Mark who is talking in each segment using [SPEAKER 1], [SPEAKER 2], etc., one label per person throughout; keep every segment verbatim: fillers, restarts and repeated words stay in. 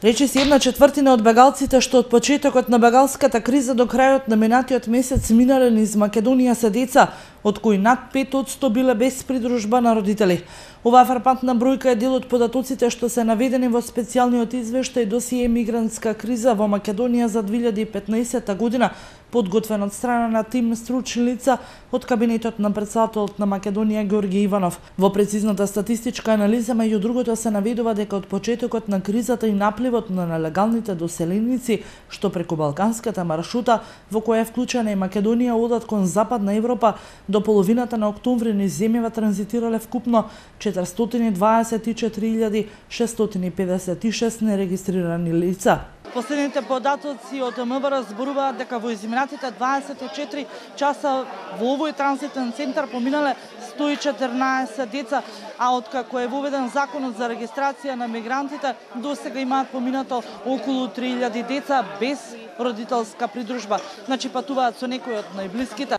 [SPEAKER 1] Речиси една четвртина од бегалците што од почетокот на бегалската криза до крајот на минатиот месец минале низ Македонија се деца, од кои над пет одсто биле без придружба на родители. Оваа фрапантна бројка е дел од податоците што се наведени во специјалниот извештај досие мигрантска криза во Македонија за две илјади и петнаесетта година, подготвен од страна на тим стручни лица од кабинетот на претседателот на Македонија Георги Иванов. Во прецизната статистичка анализа меѓу другото се наведува дека од почетокот на кризата и напливот на нелегалните доселеници што преку балканската маршрута во која е вклучена и Македонија одат кон Западна Европа, до половината на октомври низ земјава транзитирале вкупно четиристотини дваесет и четири илјади шестстотини педесет и шест нерегистрирани лица. Последните податоци од МВР зборуваат дека во изминатите дваесет и четири часа во овој транзитен центар поминале сто и четрнаесет деца, а откако е воведен законот за регистрација на мигрантите, досега имаат поминато околу три илјади деца без родителска придружба. Значи патуваат со некој од најблиските.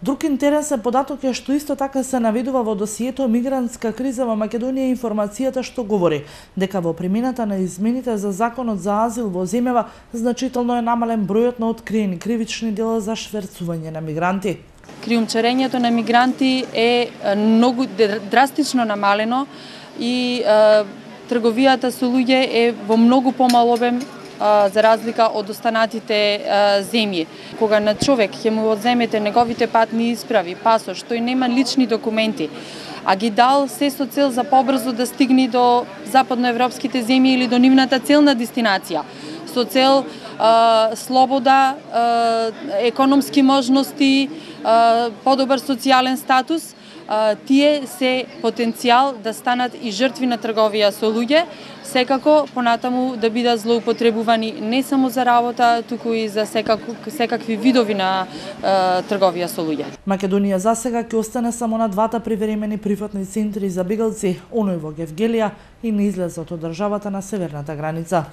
[SPEAKER 1] Друг интересен податок е што исто така се наведува во досието мигрантска криза во Македонија информацијата што говори дека во примената на измените за законот за азил во земјава значително е намален бројот на откриени кривични дела за шверцување на мигранти.
[SPEAKER 2] Криумчарењето на мигранти е многу драстично намалено и е, трговијата со луѓе е во многу помал обем за разлика од останатите земји. Кога на човек ќе му одземете неговите патни исправи, пасош, тој нема лични документи, а ги дал се со цел за побрзо да стигне до западноевропските земји или до нивната целна дестинација, со цел а, слобода, а, економски можности, а, подобар социјален статус, а, тие се потенцијал да станат и жртви на трговија со луѓе, секако понатаму да бидат злоупотребувани не само за работа, туку и за секако, секакви видови на е, трговија со луѓе.
[SPEAKER 1] Македонија засега ќе остане само на двата привремени прифатни центри за бегалци, оној во Гевгелија и на излезот од државата на северната граница.